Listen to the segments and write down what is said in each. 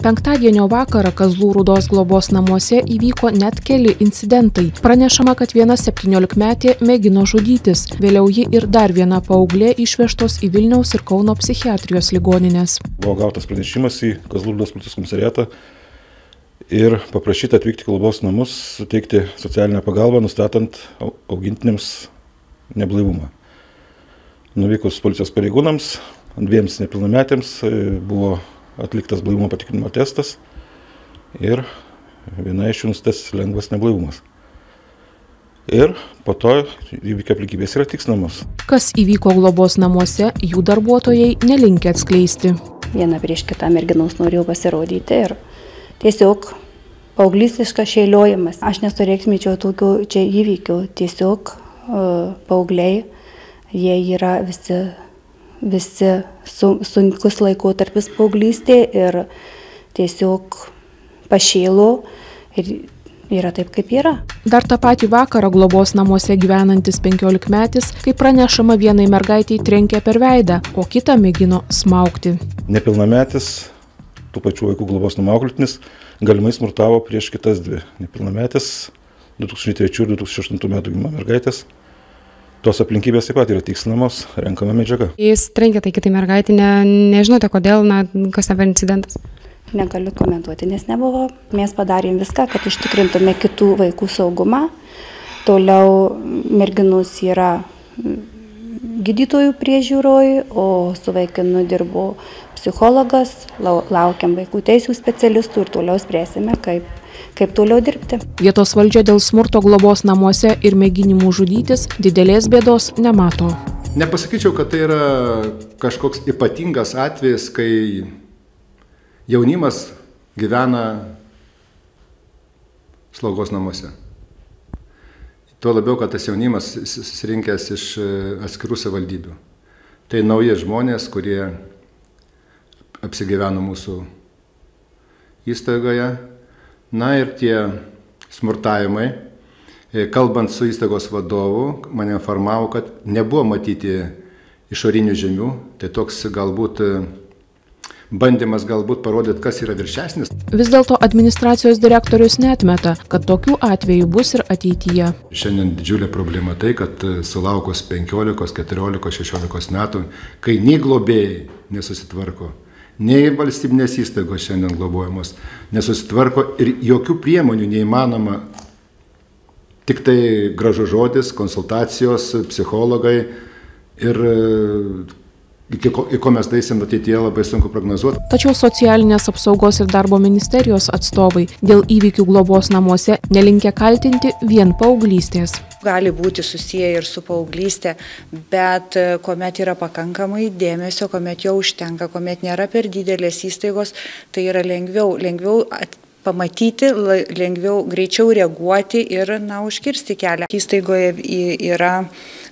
Penktadienio vakarą Kazlų Rūdos globos namuose įvyko net keli incidentai. Pranešama, kad viena 17-metė mėgino žudytis. Vėliau ji ir dar viena paauglė išvežtos į Vilniaus ir Kauno psichiatrijos ligonines. Buvo gautas pranešimas į Kazlų Rūdos policijos komisariatą ir paprašyta atvykti į globos namus, suteikti socialinę pagalbą, nustatant augintiniams neblaivumą. Nuvykus policijos pareigūnams, dviems nepilnametėms buvo atliktas blaivumo patikrinimo testas ir viena iš jų nustatytas lengvas neblaivumas. Ir po to įvykio aplinkybės yra tikslinamos. Kas įvyko globos namuose, jų darbuotojai nelinkę atskleisti. Viena prieš kitą merginos norėjau pasirodyti ir tiesiog paauglistiškas šėliojimas. Aš nesureikšminčiau tokių čia įvykių. Tiesiog paaugliai, jie yra visi sunkus laikotarpis paauglystė ir tiesiog pašėlo ir yra taip, kaip yra. Dar tą patį vakarą globos namuose gyvenantis 15-metis, kaip pranešama, vienai mergaitei trenkė per veidą, o kitą mėgino smaugti. Nepilnametis, tų pačių vaikų globos namų auklėtinis, galimai smurtavo prieš kitas dvi nepilnametis 2003 ir 2008 metų gimimo mergaitės. Tos aplinkybės taip pat yra tikslinamos, renkama medžiaga. Jis trenkė tai kitai mergaitė, nežinote kodėl, kas ten per incidentas? Negaliu komentuoti, nes nebuvo. Mes padarėm viską, kad užtikrintume kitų vaikų saugumą. Toliau merginos yra gydytojų priežiūroj, o su vaikinu dirbo psichologas, laukiam vaikų teisių specialistų ir toliau spręsime, kaip toliau dirbti. Vietos valdžia dėl smurto globos namuose ir mėginimų žudytis didelės bėdos nemato. Nepasakyčiau, kad tai yra kažkoks ypatingas atvejis, kai jaunimas gyvena slaugos namuose. Tuo labiau, kad tas jaunimas susirinkęs iš atskirų savivaldybių. Tai nauji žmonės, kurie apsigyveno mūsų įstaigoje. Na ir tie smurtavimai, kalbant su įstaigos vadovu, mane informavo, kad nebuvo matyti išorinių žymių. Tai toks galbūt bandymas parodyti, kas yra viršesnis. Vis dėlto administracijos direktorius neatmeta, kad tokių atvejų bus ir ateityje. Šiandien didžiulė problema tai, kad sulaukus 15, 14, 16 metų, kai nei globėjai nesusitvarko, nei valstybinės įstaigos šiandien globojamos nesusitvarko ir jokių priemonių neįmanoma, tik tai gražus žodis, konsultacijos, psichologai ir į ko mes daisim ateityje labai sunku prognozuoti. Tačiau socialinės apsaugos ir darbo ministerijos atstovai dėl įvykių globos namuose nelinkę kaltinti vien paauglystės. Gali būti susiję ir su paauglystė, bet kuomet yra pakankamai dėmesio, kuomet jo užtenka, kuomet nėra per didelės įstaigos, tai yra lengviau pamatyti, lengviau greičiau reaguoti ir užkirsti kelią. Įstaigoje yra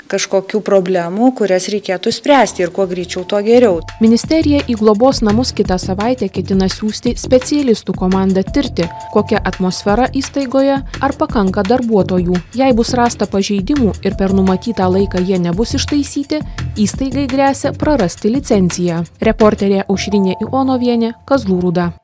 kažkokių problemų, kurias reikėtų spręsti ir kuo greičiau, tuo geriau. Ministerija į globos namus kitą savaitę ketina siųsti specialistų komandą tirti, kokia atmosfera įstaigoje, ar pakanka darbuotojų. Jei bus rasta pažeidimų ir per numatytą laiką jie nebus ištaisyti, įstaigai gresia prarasti licenciją. Reporterė Aušrinė Ionovienė, Kazlų Rūda.